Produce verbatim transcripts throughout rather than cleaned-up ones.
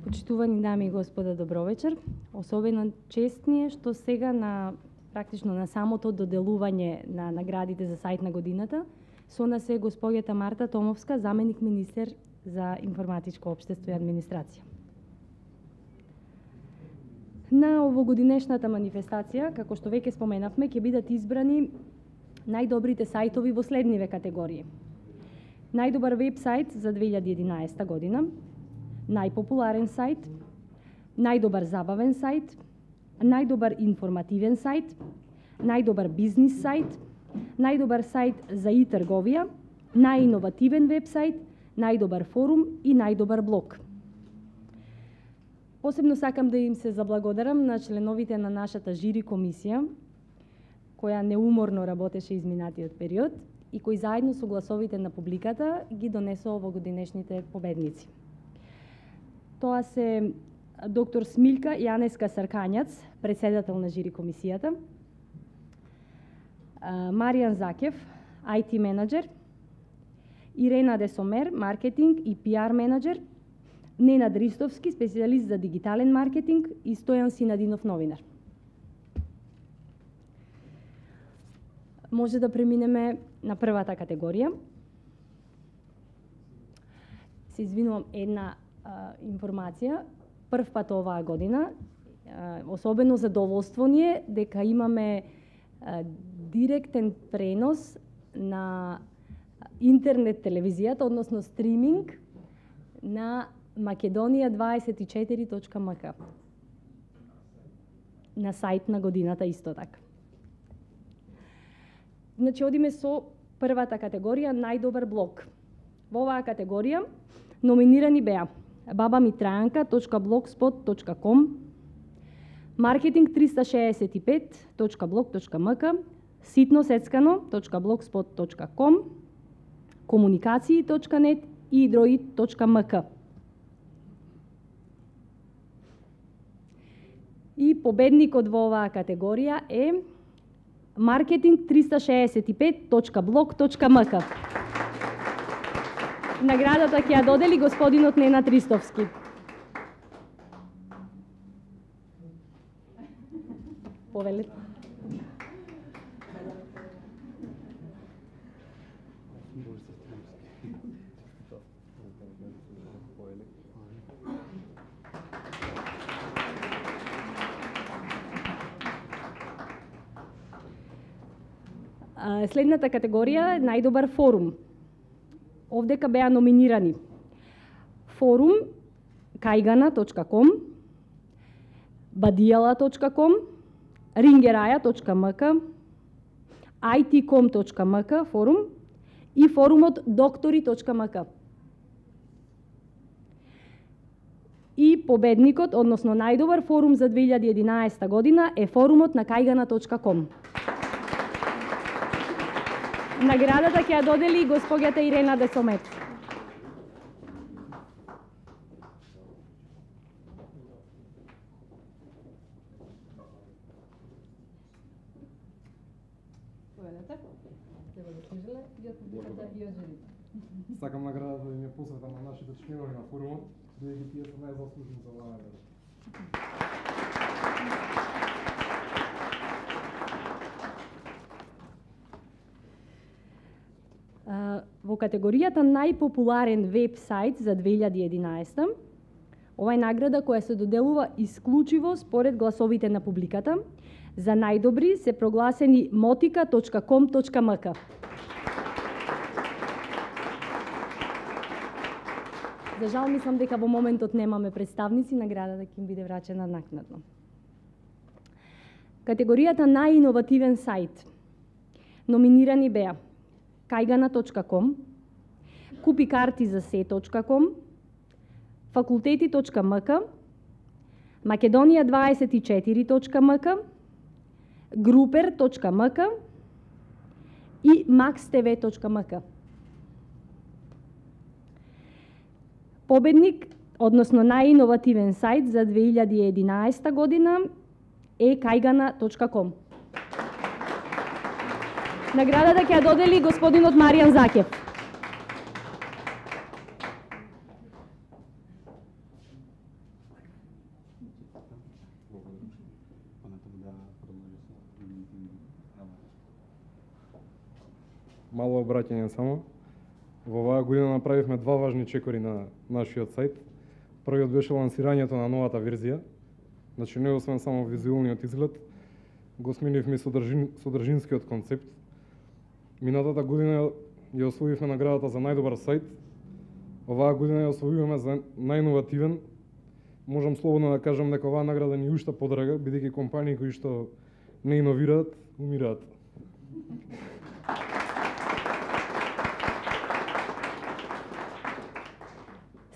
Почитувани дами и господа, добро вечер. Особено чест ни е што сега на практично на самото доделување на наградите за сајт на годината со нас е господјата Марта Томовска, заменик министер за информатичко општество и администрација. На овогодинешната манифестација, како што веќе споменавме, ќе бидат избрани најдобрите сајтови во следниве категории. Најдобар веб-сајт за две илјади и единаесета година, најпопуларен сајт, најдобар забавен сајт, најдобар информативен сајт, најдобар бизнис сајт, најдобар сајт за и-трговија, најиновативен веб-сајт, најдобар форум и најдобар блог. Посебно сакам да им се заблагодарам на членовите на нашата жири комисија, која неуморно работеше изминатиот период и кои заедно со гласовите на публиката ги донесоа овогодинешните победници. Тоа се доктор Смилка Јанеска Саркањац, председател на жири комисијата, Маријан Закев, ай ти менаџер, Ирена Десомер, маркетинг и пи ар менаџер, Ненад Ристовски, специјалист за дигитален маркетинг и Стојан Синадинов, новинар. Може да преминеме на првата категорија. Се извинувам, една а, информација. Прв пат оваа година, а, особено задоволство ни е дека имаме а, директен пренос на интернет телевизијата, односно стриминг на Македонија дваесет и четири точка ем ка. На сајт на годината исто така. Значи, одиме со првата категорија, најдобар блог. Во оваа категорија номинирани беа бабамитрајанка точка блогспот точка ком, маркетинг триста шеесет и пет точка блог точка ем ка, ситносецкано точка блогспот точка ком, комуникации точка нет и идроид точка ем ка. И победникот во оваа категорија е маркетинг триста шеесет и пет точка блог точка ем ка. Наградата ќе ја додели господинот Ненад Ристовски. Повелете. Следната категорија е најдобар форум. Овдека беа номинирани форум кајгана точка ком, бадијала точка ком, рингераја точка ем ка, ай ти ком точка ем ка форум и форумот доктори точка ем ка. И победникот, односно најдобар форум за две илјади и единаесета година е форумот на кајгана точка ком. Наградата ќе ја додели госпоѓата Ирена Десомер. Сакам наградата да ми ја посветам на нашите членови на форумот, бидејќи тие се најзаслужени за оваа награда. Во категоријата најпопуларен веб-сајт за две илјади и единаесета, ова е награда која се доделува исклучиво според гласовите на публиката. За најдобри се прогласени мотика точка ком точка ем ка. За жал, мислам дека во моментот немаме представници, наградата ќе им биде врачена накнадно. Категоријата најиновативен сајт. Номинирани беа кајгана точка ком, купи карти за се точка ком, факултети точка ем ка, Македонија дваесет и четири точка ем ка, групер точка ем ка и макс те ви точка ем ка. Победник, односно најиновативен сајт за две илјади и единаесета година е кајгана точка ком. Наградата ќе ја додели господинот Маријан Закев. мало обраќање само. Во оваа година направивме два важни чекори на нашиот сајт. Првиот беше лансирањето на новата верзија. Значи не освен само визуелниот изглед, го сменивме содржин, содржинскиот концепт. Минатата година ја освоивме наградата за најдобар сајт. Оваа година ја освојуваме за најиновативен. Можам слободно да кажам дека оваа награда ни уште подрага, бидејќи компании кои што не иновираат, умираат.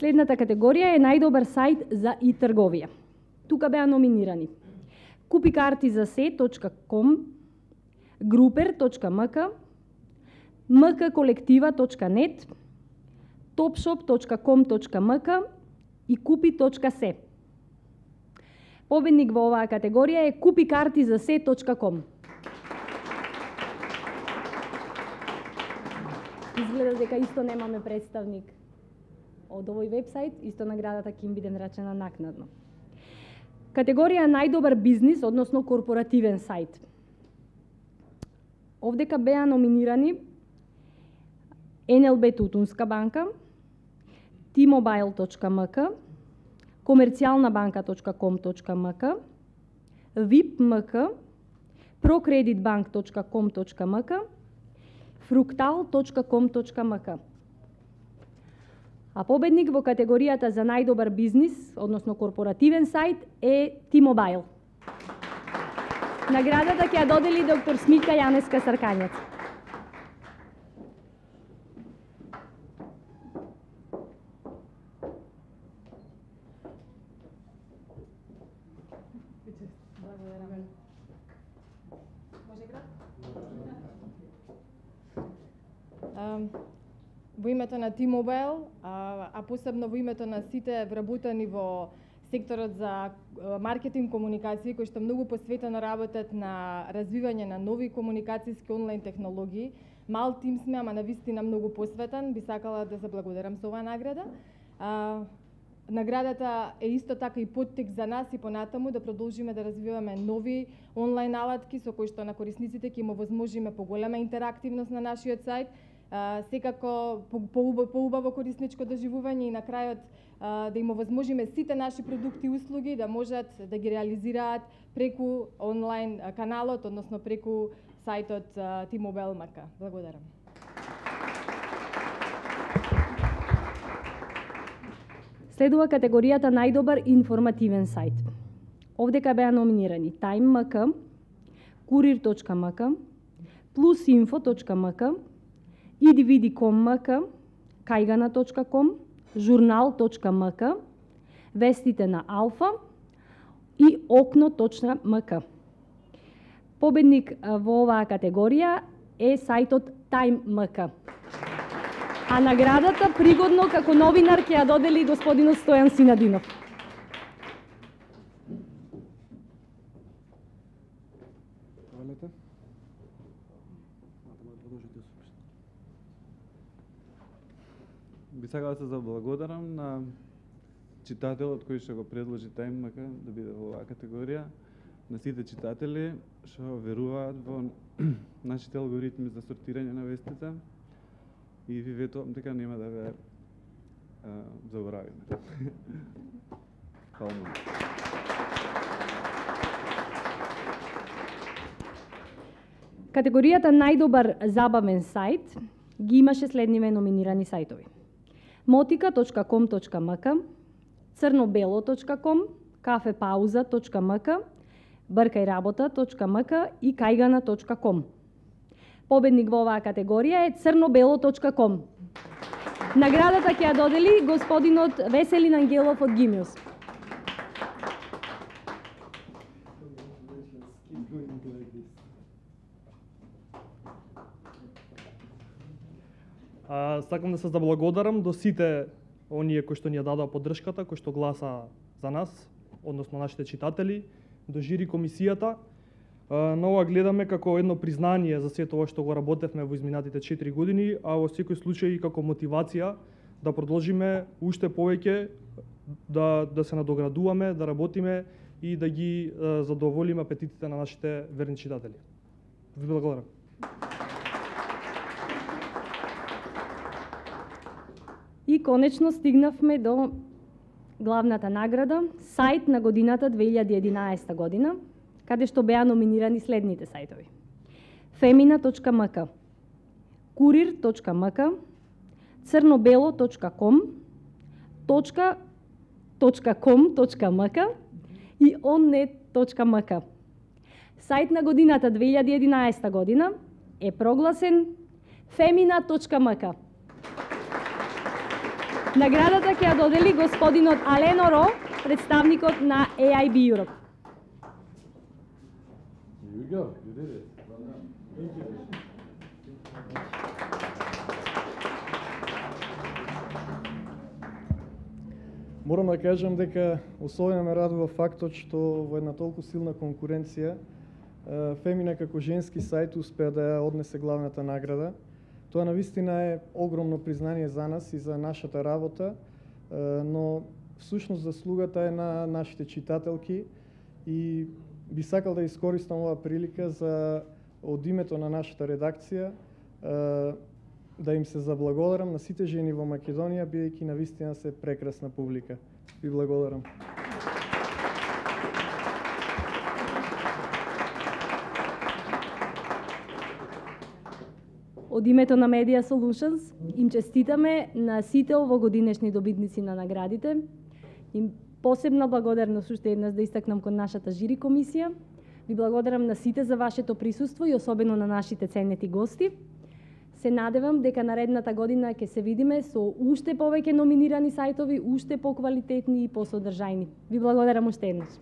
Следната категорија е најдобар сајт за и-трговија. Тука беа номинирани купи карти за се точка ком, групер точка ем ка, ем ка колектива точка нет, топшоп точка ком точка ем ка и купи точка се. Победник во оваа категорија е купи карти за се точка ком. Изгледа дека исто немаме представник од овој вебсайт, исто наградата ќе им биде нарачена накнадно. Категорија најдобар бизнис, односно корпоративен сајт. Овдека беа номинирани ен ел би Тутунска банка, ти мобайл точка ем ка, комерцијална банка точка ком точка ем ка, вип точка ем ка, прокредитбанк точка ком точка ем ка, фруктал точка ком точка ем ка. А победник во категоријата за најдобар бизнис, односно корпоративен сајт, е T-Mobile. Наградата ќе ја додели доктор Смика Јанеска Саркањец. Во името на T-Mobile, а, а посебно во името на сите вработени во секторот за маркетинг комуникации, кои што многу посветено работат на развивање на нови комуникацијски онлайн технологии. Мал тим сме, ама навистина многу посветен. Би сакала да заблагодарам со оваа награда. А, наградата е исто така и поттик за нас и понатаму да продолжиме да развиваме нови онлайн алатки со кои што на корисниците ќе им овозможиме поголема интерактивност на нашиот сајт, Uh, секако поубаво корисничко доживување и на крајот uh, да им овозможиме сите наши продукти и услуги да можат да ги реализираат преку онлайн каналот, односно преку сајтот uh, T-Mobile точка ем ка. Благодарам. Следува категоријата најдобар информативен сајт. Овдека беа номинирани Time точка ем ка, Курир точка ем ка, Plusinfo точка ем ка, идивиди точка ком точка ем ка, кајгана точка ком, журнал точка ем ка, вестите на Алфа и окно точка ем ка. Победник во оваа категорија е сајтот Time точка ем ка. А наградата пригодно како новинар ќе ја додели господинот Стојан Синадинов. Би сакала да се заблагодарам на читателот кој што го предложи Time точка ем ка да биде во оваа категорија, на сите читатели што веруваат во нашите алгоритми за сортирање на вестите и ви ветувам дека нема да ве а, заборавиме. Фала многу. Категоријата најдобар забавен сајт ги имаше следниве номинирани сајтови: мотика точка ком точка ем ка, црно-бело точка ком, кафепауза точка ем ка, бркајработа точка ем ка и кајгана точка ком. Победник во оваа категорија е црно-бело точка ком. Наградата ќе ја додели господинот Веселин Ангелов од Гимиус. А, сакам да се заблагодарам до сите оние кои што ни ја дадоа поддршката, кои што гласа за нас, односно нашите читатели, до жири комисијата. А, на ова гледаме како едно признание за сето ова што го работевме во изминатите четири години, а во секој случај и како мотивација да продолжиме уште повеќе да, да се надоградуваме, да работиме и да ги а, задоволиме апетитите на нашите верни читатели. Ви благодарам. И конечно стигнавме до главната награда, сајт на годината две илјади и единаесета година, каде што беа номинирани следните сајтови: femina точка ем ка, kurir точка ем ка, crnobelo точка ком, точка ком точка ем ка и оннет точка ем ка. Сајт на годината две илјади и единаесета година е прогласен femina точка ем ка. Наградата ќе ја додели господинот Алено Ро, представникот на Ей Ај Би Europe. Here we go. You did it. Well done. Thank you. Морам да кажам дека особено ме радува фактот што во една толку силна конкуренција Femina како женски сајт успеа да ја однесе главната награда. Тоа навистина е огромно признание за нас и за нашата работа, но всушност заслугата е на нашите читателки и би сакал да искористам оваа прилика за од името на нашата редакција да им се заблагодарам на сите жени во Македонија, бидејќи навистина се прекрасна публика. Ви благодарам. Од името на Media Solutions им честитаме на сите овогодинешни добитници на наградите. Им посебна благодарност уште еднаш да истакнам кон нашата жири комисија. Ви благодарам на сите за вашето присуство и особено на нашите ценети гости. Се надевам дека наредната година ќе се видиме со уште повеќе номинирани сајтови, уште поквалитетни и посодржајни. Ви благодарам уште еднаш.